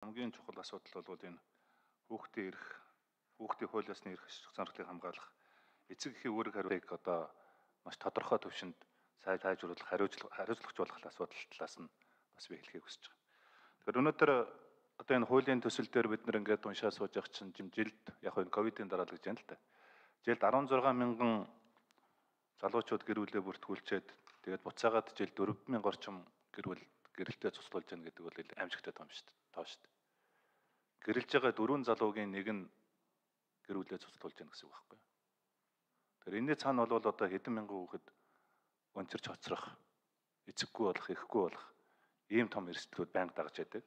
Хамгийн чухал асуудал бол энэ хүүхдийн хууль ёсны эрх сонирхлыг хамгаалах эцэг эхийн үүрэг хариуцлагыг одоо маш тодорхой төвшөнд сайжруулах, хариуцлагч болох асуудал талаас нь бас би хэлхийг хүсэж байгаа. Тэгэхээр өнөөдөр одоо энэ хуулийн төсөл дээр бид нэр ингээд уншаа сууж явах чинь жилд яг энэ ковидын дараа л гэж байна л да. Жилд 16 мянган залуучууд гэр бүлээ бүртгүүлчихэд тэгээд буцаагаад жилд 4,000 орчим гэр бүл гэрэлтэй цуцлуулж байна гэдэг бол аимшигтай том шүү дээ. Тоо шүү дээ. Гэрэлж байгаа 4 залуугийн нэг нь гэр бүлээ цуцлуулж байна гэсэн үг байхгүй юу? Тэгэхээр энэний цаана бол одоо хэдэн мянган хүүхэд өнцөрч хоцрох, эцэггүй болох, ихгүй болох ийм том эрсдлүүд байнга дагаж байдаг.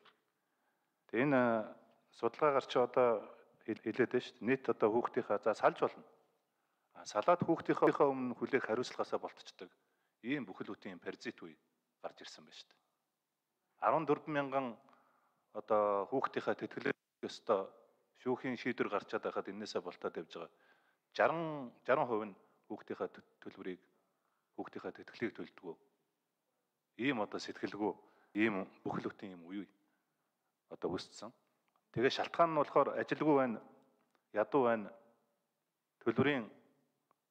Тэгээ энэ судалгаагаар чи одоо хэлээд байна шүү дээ. Нийт одоо хүүхдийнхаа за салж болно. Салаад хүүхдийнхээ өмнө хүлээх хариуцлагаасаа болтчдаг ийм бүхэл бүтэн паразит үе гарч ирсэн байна шүү дээ. 14 мянган одоо хүүхдийнхээ тэтгэлэг ёстой шүүхийн шийдвэр гарч чадаад байхад энээсээ болтоод явж байгаа 60% нь хүүхдийнхээ төлбөрийг хүүхдийнхээ тэтгэлгийг төлдөг. Ийм одоо сэтгэлгүй ийм бүхэл бүтэн ийм үе одоо үүссэн. Тэгээ шалтгаан нь болохоор ажилгүй байна, ядуу байна, төлбөрийн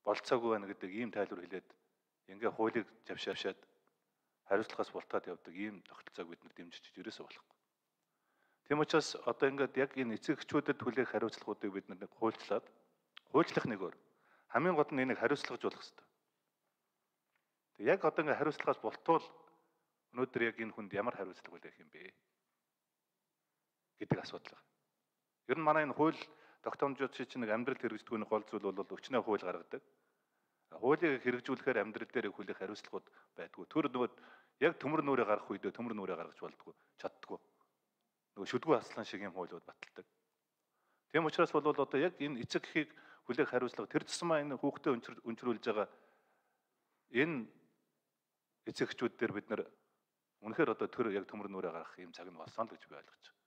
болцоогүй байна гэдэг ийм тайлбар хэлээд ингээ хуулийг завшаашаад хариуцлагаас бултаад явдаг ийм тогтолцоог бид нар дэмжиж ерөөсөө болохгүй. Тийм учраас одоо ингээд яг энэ эцэгчүүдэд хүлээх хариуцлагуудыг бид нар хуульчлах нэг өөр. Хамгийн гол нь энийг хариуцлагажуулах хэрэгтэй. Тэг яг одоо ингээд хариуцлагаас бултуул өнөөдөр яг энэ хүнд ямар хариуцлага үлээх юм бэ гэдэг асуудал байна. Ер нь манай энэ хууль тогтоомжууд чинь нэг амьдрал хэрэгждэггүй гол зүйл бол өчнөө хууль гаргадаг. Хуулийг хэрэгжүүлэхээр амьдрал дээр хүлээх хариуцлагууд байдгүй. Тэр нөгөө яг төмөр нүрээ гаргах үедээ төмөр нүрээ гаргаж болдгоо, чаддгүй. Нөгөө шүдгүү аслан шиг юм хуулиуд баталдаг. Тийм учраас бол одоо яг энэ эцэг эхийг хүлээх хариуцлага тэр тусмаа энэ хүүхдэд өнчрүүлж байгаа энэ эцэг эхчүүд дээр бид нар үнэхээр одоо тэр яг төмөр нүрээ гаргах юм цаг нь болсон л гэж би ойлгож байна.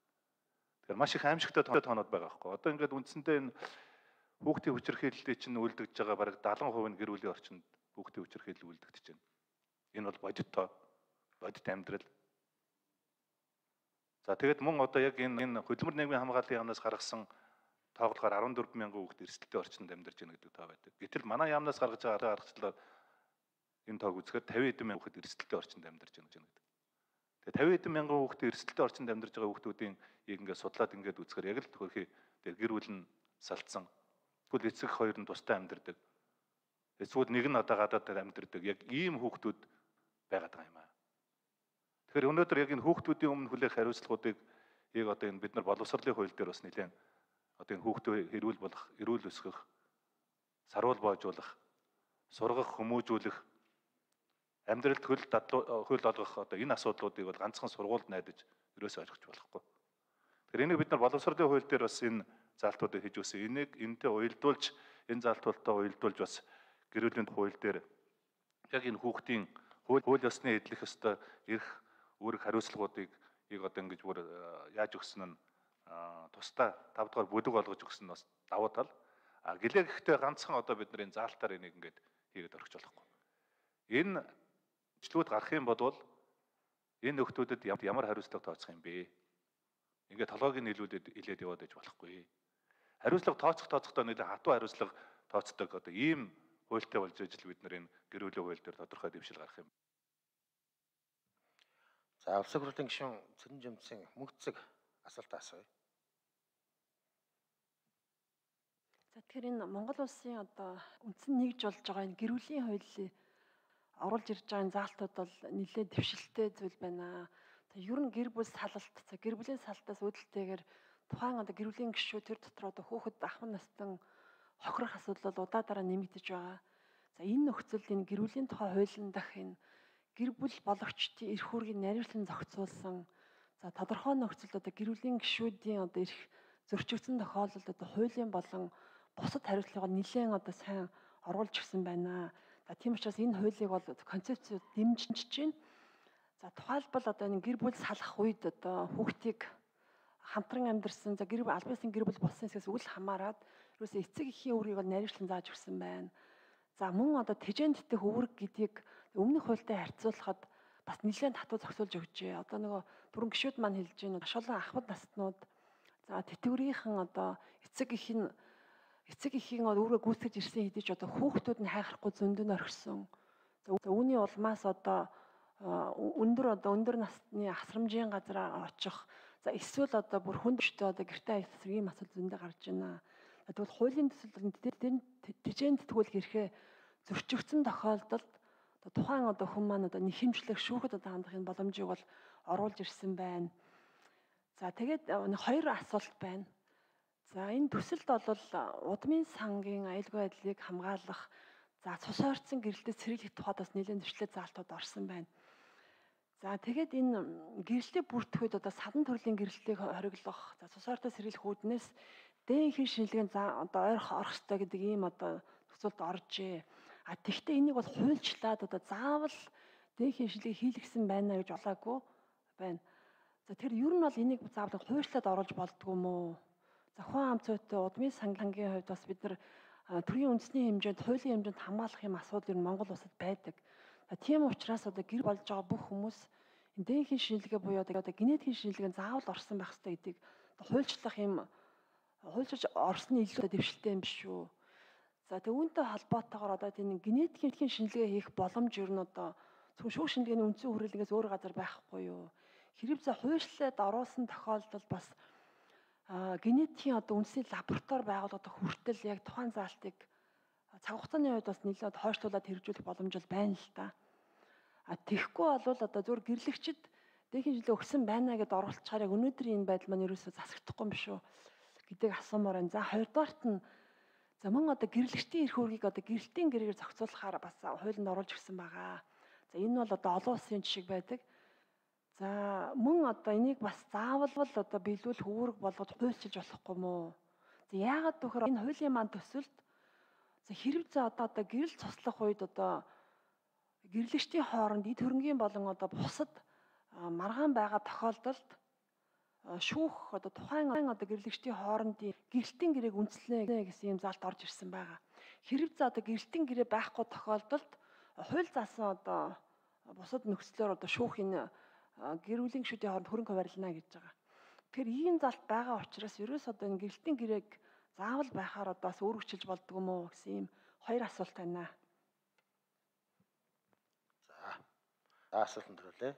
Тэгэхээр маш их аимшигтай тоонууд байгаа байхгүй. Одоо ингээд үндсэндээ энэ хүүхдийн хүчирхийлэлтэй чинь үлдэгдэж байгаа бараг 70% нь гэр бүлийн орчинд хүүхдийн хүчирхийлэл үлдэгдэж байна. Энэ бол бодит амьдрал. За тэгээд мөн одоо яг энэ хөдөлмөр нийгмийн хамгааллын яамнаас гаргасан тоглохоор 14 мянган хүүхэд эрсдэлтэй орчинд амьдарч байна гэдэг тоо байдаг. Гэтэл манай яамнаас гаргаж байгаа аргачлалаар энэ тоог үзэхээр 50 эдэн мянган хүүхэд эрсдэлтэй орчинд амьдарч байна гэж байна. Тэгээ 50 эдэн мянган хүүхэд эрсдэлтэй орчинд амьдарч байгаа хүүхдүүдийн ингээд судлаад ингээд үзэхээр яг л төхөрхий гэр бүл нь салцсан. Тэгвэл эцэг хоёр нь тусдаа амьдардаг. Эсвэл нэг нь одоо гадаад амьдардаг. Яг ийм хүүхдүүд байгаад байгаа юм аа. Тэгэхээр өнөөдөр яг энэ хүүхдүүдийн өмнө хүлээх хариуцлагуудыг одоо энэ бид нар боловсролын хууль дээр бас нэлээд одоо энэ хүүхдээ хэрүүл болох, эрүүл өсгөх, саруул боожуулах, сургах, хүмүүжүүлэх, амьдралд хөл олгох одоо энэ асуудлуудыг бол ганцхан сургуульд найдаж ерөөсөө ойлгож болохгүй. Тэгэхээр энийг бид нар боловсролын хууль дээр бас энэ заалтуудыг хийж өгсөн. Энийг энэтэй уялдуулж энэ заалтуудтай уялдуулж бас гэр бүлийн хууль дээр яг энэ хүүхдийн хууль ёсны эдлэх ёстой эрх үүрэг хариуцлагуудыг одоо ингэж бүр яаж өгсөн нь тусдаа 5 дугаар бүлэг олгож өгсөн нь бас давуу тал. Гэлээ гэхдээ ганцхан одоо бид нар энэ заалтаар энийг ингэж хийгээд орхиж болохгүй. Энэ бичлүүд гарах юм бол энэ нөхдүүдэд ямар хариуцлага тооцох юм бэ? Ингээд толгойг нь илээд яваад иж болохгүй. Хариуцлага тооцохдоо нэлээд хатуу хариуцлага тооцдог одоо ийм хуультай болж ижил бид нар энэ гэр бүлийн хууль дээр тодорхой дэвшил гаргах юм. За улсын хурлын гишүүн Цэрэн Жимсийн мөнгөцөг асуулт асууя. За тэгэхээр энэ Монгол улсын одоо үндсэн нэгж болж байгаа энэ гэр бүлийн хуулийг оруулж ирж байгаа заалтууд бол нэлээд дэвшилттэй зүйл байна. Ер нь гэр бүл салалт, гэр бүлийн салтаас үүдэлтэйгээр тухайн одоо гэр бүлийн гишүүд тэр дотор одоо хүүхэд ахмад настан хохирох асуудал бол удаа дараа нэмэгдэж байгаа. За энэ нөхцөлд энэ гэр бүлийн тухай хуулийн дах энэ гэр бүл болгочдын эрх үүргийг нариулсан зохицуулсан. За тодорхой нөхцөлд одоо гэр бүлийн гишүүдийн одоо эрх зөрчигдсөн тохиолдолд одоо хуулийн болон бусад хариуцлагыг нэлээд одоо сайн оруулж гисэн байна. За тийм учраас энэ хуулийг бол концепцийг дэмжиж байна. За тухайлбал одоо энэ гэр бүл салах үед одоо хүүхдийг хамтран амьдарсан за аль биесийн гэр бүл болсон хэсгээс үл хамааран ерөөсөө эцэг эхийн үүргийг бол нариучлан зааж өгсөн байна. За мөн одоо тэжээнд дэх үүрэг гэдгийг өмнөх хуультай харьцуулахад бас нэлээд татуу зохицуулж өгчээ. Одоо нөгөө түрэн гişүүд маань хэлж байна. Маш олон ахмад настнууд за тэтгэврийнхэн одоо эцэг эхийн өөрө гүйцэтгэж ирсэн хэдий ч одоо хүүхдүүд нь хайхрахгүй зөндөн орхисон. За үүний улмаас одоо өндөр насны асрамжийн газар очих. За эсвэл одоо бүр хүндштэй одоо гэртээ айсан ийм асуудал зөндөө гарч байна. Тэгвэл хуулийн төсөл тэжээнд тэтгүүлэх эрхээ зөрчигдсөн тохиолдолд тухайн одоо хүн маань одоо нэхэмжлэх шүүхэд одоо хандах энэ боломжийг бол оруулж ирсэн байна. За тэгээд хоёр асуулт байна. За энэ төсөлд бол удмын сангийн аюулгүй байдлыг хамгаалах за цус ойрцсон гэрэлтэд сэргийлэх тухайд бас нэлээд зөрчилтэй заалтууд орсон байна. За тэгээд энэ гэрэлтийг бүртгэхэд одоо садан төрлийн гэрэлтийг хориглох за цус ойртоо сэргийлэх үүднээс дээхийн шинжилгээнд одоо орох ёстой гэдэг ийм одоо төсөлд оржээ. Тэгвэл энийг бол хуульчлаад одоо заавал дээхийн шинжилгээ хийлгсэн байна гэж болоогүй байна. За тэр ер нь бол энийг заавал хуульчлаад оруулж болдгоо юм уу? За хүн ам цойтой удмын сангийн хувьд бас бид нар төрийн үндэсний хэмжээнд хуулийн хэмжээнд хамгаалах юм асуудал ер нь Монгол улсад байдаг. Тийм учраас одоо гэр болж байгаа бүх хүмүүс энэ дээхийн шинжилгээ буюу одоо генетикийн шинжилгээнд заавал орсон байх хэрэгтэй гэдгийг хуульчлах юм хуульчилж орсны илүү дэвшилтэй юм биш үү? За тэг үүнтэй холбоотойгоор одоо тийм генетикийн шинжилгээ хийх боломж ер нь одоо зөвхөн шүүх шинжилгээний үндсэн хүрээлэнгээс өөр газар байхгүй юу? Хэрэг за хуульчлаад оруулсан тохиолдолд бас генетикийн одоо үндэсний лаборатори байгуулагдах хүртэл яг тухайн заалтыг цаг хугацааны хувьд бас нэлээд хойшлуулад хэрэгжүүлэх боломж бол байна л да. Тэгэхгүй бол одоо зөвхөн гэрлэгчд дээхийн жилээ өгсөн байна гэдээ оруулчихаар яг өнөөдрийн энэ байдал маань ерөөсөө засагдахгүй юм биш үү гэдэг асуумаар байна. За хоёрдугаарт нь за мөн одоо гэрлэгчдийн эрх үүргийг одоо гэрэлтийн гэрээр зохицуулахаар бас хуулинд оруулж ирсэн байгаа. За энэ бол одоо олон улсын жишээ байдаг. За мөн одоо энийг бас заавал одоо биелүүлэх үүрэг болгож хуульчилж болохгүй мó. За яагаад гэвэл энэ хуулийн маань төсөлд за хэрэг за одоо гэрэл цуслах үед одоо гэрлэгчдийн хооронд эд хөрөнгийн болон одоо бусад маргаан байгаа тохиолдолд шүүх одоо тухайн одоо гэрлэгчдийн хоорондын гэрэлтийн гэрээг үндэслэнэ гэсэн юм заалт орж ирсэн байгаа. Хэрэг за одоо гэрэлтийн гэрээ байхгүй тохиолдолд хууль заасан одоо бусад нөхцлөөр одоо шүүх энэ гэр бүлийн гишүүдийн хооронд хөрөнгө хуваарлана гэж байгаа. Тэгэхээр ийм залт байгаа учраас ерөөс одоо энэ гэрэлтийн гэрээг заавал байхаар одоо бас өөрчлөж болдгоо юм уу гэсэн ийм хоёр асуулт байна. За асуултанд хариулъя.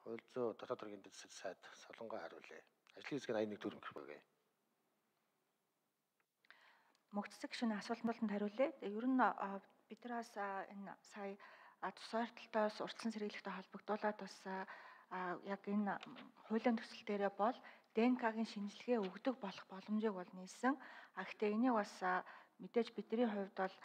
Хууль зүйн дотоод хэргийн дэд сайд Солонгой хариулъя. Ажлын хэсгийн 81 төгрөг багэ. Мөгцөг гишүүний асуултанд хариулъя. Ер нь бид нараас энэ сая цус ойртолтоос урьдчилан сэргийлэхтэй холбогдуулаад бас яг энэ хуулийн төсөл дээрээ бол ДНК-гийн шинжилгээ өгдөг болох боломжийг бол нээсэн. Гэхдээ энийг бас мэдээж бидний хувьд бол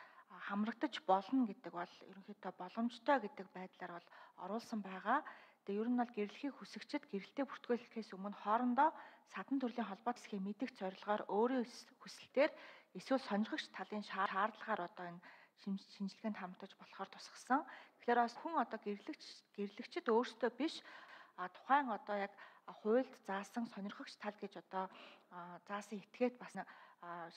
хамрагдаж болно гэдэг бол ерөнхийдөө боломжтой гэдэг байдлаар бол оруулсан байгаа. Тэгээ ер нь бол гэрлэхийг хүсэгчид гэрэлтээ бүртгүүлэхээс өмнө хоорондоо садан төрлийн холбоо засгийн мэдих зорилгоор өөрийн хүсэлтээр эсвэл сонирхогч талын шаардлагаар одоо энэ шинжилгээнд хамтаж болохоор тусгасан. Тэгэхээр бас хүн одоо гэрлэгчид өөрсдөө биш тухайн одоо яг хуульд заасан сонирхогч тал гэж одоо заасан этгээд бас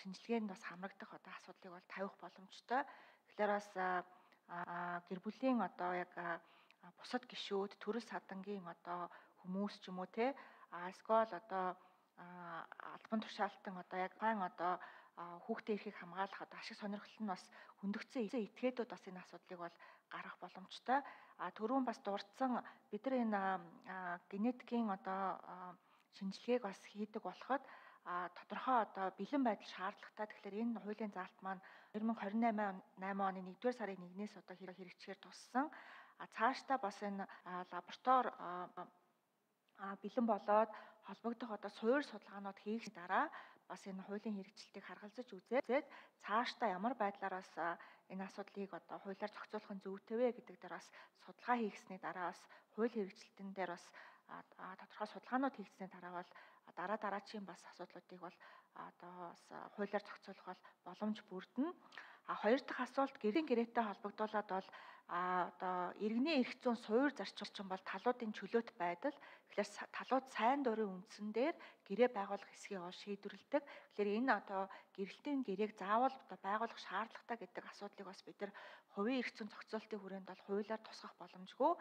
шинжилгээнд бас хамрагдах одоо асуудлыг бол тавих боломжтой. Тэгэхээр бас гэр бүлийн одоо яг бусад гишүүд төрөл садангийн одоо хүмүүс ч юм уу те эсвэл одоо албан тушаалтан одоо яг хаан одоо хүүхдийн эрхийг хамгаалах одоо ашиг сонирхол нь бас хөндөгцсөн этгээдүүд бас энэ асуудлыг бол гарах боломжтой. Түрүүн бас дурдсан бид нар энэ генетикийн одоо шинжилгээг бас хийдэг болоход тодорхой одоо бэлэн байдал шаардлагатай. Тэгэхээр энэ хуулийн заалт маань 2028 оны 1-р сарын 1-ээс одоо хэрэгжихээр туссан. Цаашдаа бас энэ лаборатори бэлэн болоод холбогдох одоо суур судалгаанууд хийх дараа бас энэ хуулийн хэрэгжилтийг харгалзаж үзээд цаашдаа ямар байдлаар бас энэ асуудлыг одоо хуулиар зохицуулах нь зүйтэй вэ гэдэг дээр бас судалгаа хийгсний дараа бас хууль хэрэгжилтэн дээр бас тодорхой судалгаанууд хийгсний дараа бол дараачийн бас асуудлуудыг бол одоо бас хуулиар зохицуулах бол боломж бүрдэнэ. Хоёр дахь асуулт гэрийн гэрээтэй холбогдуулаад бол одоо иргэний эрх зүйн суур зарчилчин бол талуудын чөлөөт байдал. Тэгэхээр талууд сайн дурын үндсэн дээр гэрээ байгуулах хэсгийг ол шийдвэрлэдэг. Тэгэхээр энэ одоо гэрэлтийн гэрээг заавал одоо байгуулах шаардлагатай гэдэг асуудлыг бас бид нар хувийн эрх зүйн зохицуулалтын хүрээнд бол хуулиар тусгах боломжгүй.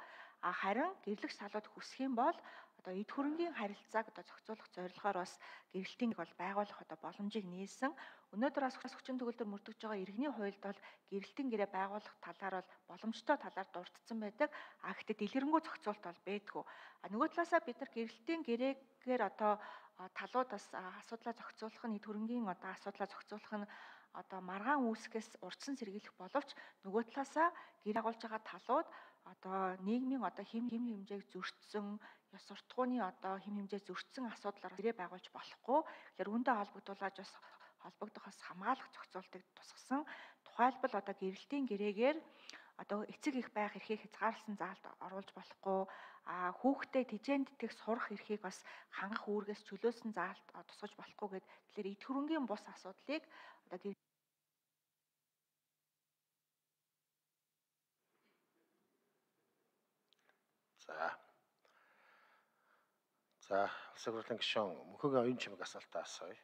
Харин гэрлэгч талууд хүсэх юм бол одоо эд хөрөнгийн харилцааг одоо зохицуулах зорилгоор бас гэрэлтийн бол байгуулах одоо боломжийг нээсэн. Өнөөдөр бас хүчин төгөлдөр мөрдөж байгаа иргэний хуульд бол гэрэлтийн гэрээ байгуулах талаар бол боломжтой талаар дурдсан байдаг. Гэхдээ дэлгэрэнгүй зохицуулт бол байдгүй. Нөгөө талаасаа бид нар гэрэлтийн гэрээгээр одоо талууд бас асуудлаа зохицуулах нь эд хөрөнгийн одоо асуудлаа зохицуулах нь одоо маргаан үүсгэс урдсан сэргийлэх боловч нөгөө талаасаа гэр агуулж байгаа талууд одоо нийгмийн одоо хэм хэмжээг зөрчсөн ёс суртахууны одоо хэм хэмжээ зөрчсөн асуудлаар гэрээ байгуулж болохгүй. Тэгэхээр үүнтэй холбогдох бас хамгаалах зохицуултыг тусгасан. Тухайлбал одоо гэрэлтийн гэрээгээр одоо эцэг их байх эрхийг хязгаарласан заалт оруулж болохгүй. Хүүхдээ тэжээнд дэх сурах эрхийг бас хангах үүргээс чөлөөсөн заалт тусгаж болохгүй гэд. Тэгэхээр эд хөрөнгийн бус асуудлыг одоо За улсын хурлын гишүүн мөнхөгийн оюун чимэг асуултаа асууя.